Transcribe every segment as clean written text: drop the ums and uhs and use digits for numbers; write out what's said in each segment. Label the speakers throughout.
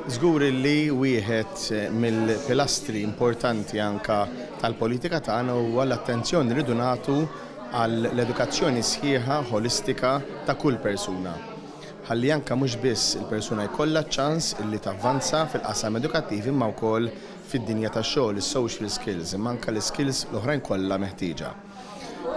Speaker 1: Żgur li wieħed mill-pilastri importanti anka tal-politika tagħna huwa l-attenzjoni li rridu nagħtu għall-edukazzjoni sħiħa ħolistika ta' kull persuna. Ħalli anka mhux biss il-persuna jkollha ċ-ċans illi tavvanza fil-qasam edukattiv imma wkoll fid-dinja tax-xogħol, is-social skills, imma anka l-iskills l-oħrajn kollha meħtieġa.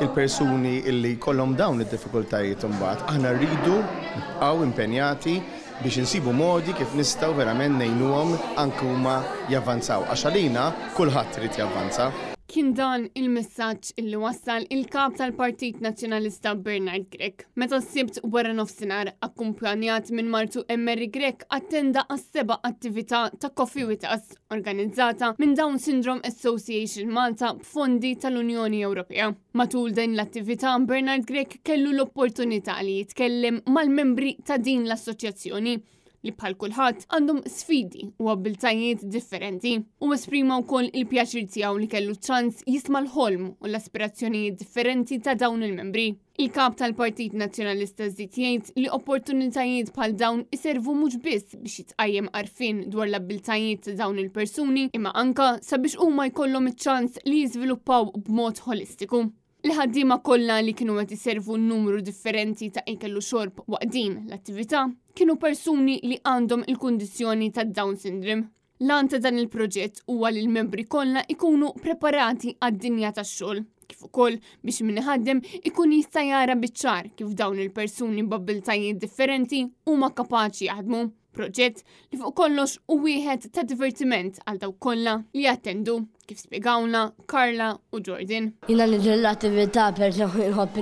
Speaker 1: Il-persuni illi jkollhom dawn id-diffikultajiet imbagħad aħna rridu nibqgħu impenjati biex insibu modi kif nistgħu verament ngħinuhom anke huma javvanzaw għax għalina kulħadd irid javvanza.
Speaker 2: Kien dan il-messaġġ illi wassal il-Kap tal-Partit Nazzjonalista Bernard Grech meta s-Sibt wara nofsinhar akkumpanjat minn martu Emery Grech attenda għas-seba' attività ta' Coffee with Us organizzata minn Down Syndrome Association Malta b'fondi tal-Unjoni Ewropea. Matul din l-attività Bernard Grech kellu l-opportunità li jitkellem mal-membri ta' din l-assoċjazzjoni li bħal kulħadd għandhom sfidi u abbiltajiet differenti. U esprima wkoll il-pjaċir tiegħu li kellu ċans jisma' l-ħolm u l-aspirazzjonijiet differenti ta' dawn il-membri. Il-kap tal-Partit Nazzjonalista żied jgħid li opportunitajiet bħal dawn iservu mhux biss biex jitqajjem għarfien dwar l-abbiltajiet ta' dawn il-persuni imma anka sabiex huma jkollhom iċ-ċans li jiżviluppaw b'mod ħolistiku. Il-ħaddiema kollha li kienu qed iservu numru differenti ta' ikel u xorb waqt din l-attività kienu persuni li għandhom il-kundizzjoni ta' Down syndrome. L-għan ta' dan il-proġett huwa li l-membri kollha ikunu preparati għad-dinja tax-xogħol, kif ukoll biex min iħaddem ikun jista' jara biċ-ċar kif dawn il-persuni b'abbiltajiet differenti huma kapaċi jaħdmu. Proġett li fuq kollox hu wieħed ta' divertiment għal dawk kollha li jattendu, kif spjegawlna Carla u Jordan.
Speaker 3: Jiena niġi l-attività peress li nħobb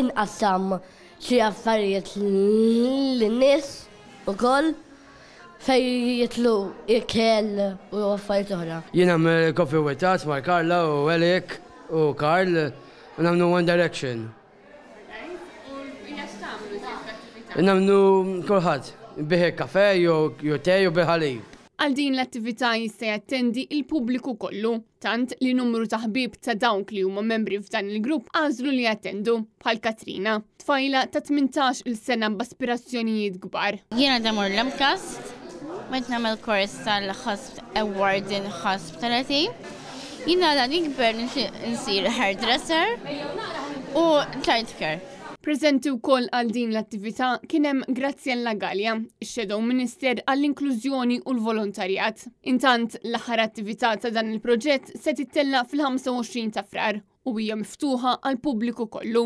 Speaker 3: inqassam xi affarijiet lin-nies ukoll fejn jidħlu ikel u affarijiet oħra.
Speaker 4: Jien nagħmel coffee with us ma' Carla u Alec u Carl u nagħmlu One Direction. Nagħmlu kulħadd, bih kafe jew te jew bil-ħalib.
Speaker 2: Għal din l-attività jista' jattendi il-pubbliku kollu, tant li numru ta' ħbieb ta' dawk li huma membri f'dan il-grupp għażlu li jattendu, bħal Katrina, tfajla ta' 18-il sena b'aspirazzjonijiet kbar.
Speaker 5: Jiena demur l-MCAST, qed nagħmel kors tal-Hosp Award in Hospitality. Jiena la nikber nixtieq insir hairdresser u childcare.
Speaker 2: Preżenti wkoll għal din l-attività kien hemm Graziella Galea, ix-Shadow Minister għall-Inklużjoni u l-Volontarjat. Intant, l-aħħar attività ta' dan il-proġett se tittella' fil-25 ta' Frar u hija miftuħa għall-pubbliku kollu.